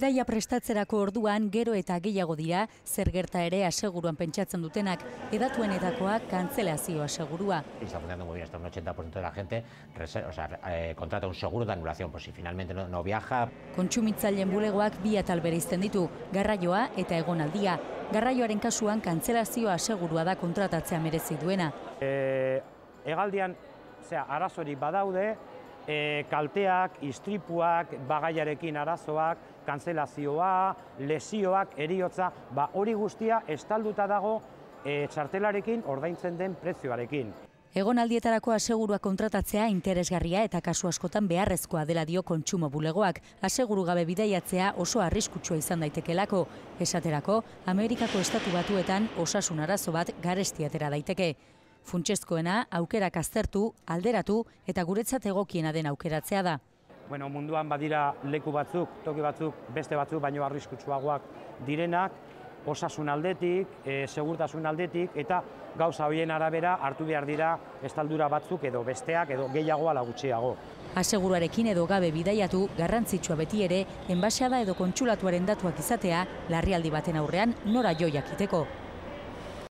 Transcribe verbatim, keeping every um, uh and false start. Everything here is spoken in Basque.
Bidaia prestatzerako orduan gero eta gehiago dira, zer gerta ere aseguruan pentsatzen dutenak, edatuenetakoa kantzelazio asegurua. Está funcionando muy bien, hasta un ochenta por ciento de la gente o sea, eh, contrata un seguro de anulación, por si finalmente no, no viaja. Kontsumitzaileen bulegoak bi atal bereizten ditu, garraioa eta egonaldia. Garraioaren kasuan kantzelazio asegurua da kontratatzea merezi duena. E, egaldian, zera, arazorik badaude, e, kalteak, istripuak, bagaiarekin arazoak, kantzelazioa, lesioak, heriotza, ba hori guztia estalduta dago e, txartelarekin ordaintzen den prezioarekin. Egonaldietarako asegurua kontratatzea interesgarria eta kasu askotan beharrezkoa dela dio kontsumo bulegoak. Aseguru gabe bidaiatzea oso arriskutsua izan daitekelako. Esaterako, Amerikako estatu batuetan osasun arazo bat garesti atera daiteke. Funtsezkoena aukerak aztertu, alderatu eta guretzat egokiena den aukeratzea da. Bueno, munduan badira leku batzuk, toki batzuk, beste batzuk, baino arriskutsuagoak direnak, osasun aldetik, e, segurtasun aldetik, eta gauza horien arabera hartu behar dira estaldura batzuk edo besteak edo gehiago ala gutxiago. Aseguruarekin edo gabe bidaiatu, garrantzitsua beti ere, enbaxada edo kontsulatuaren datuak izatea, larrialdi baten aurrean nora jo jakiteko.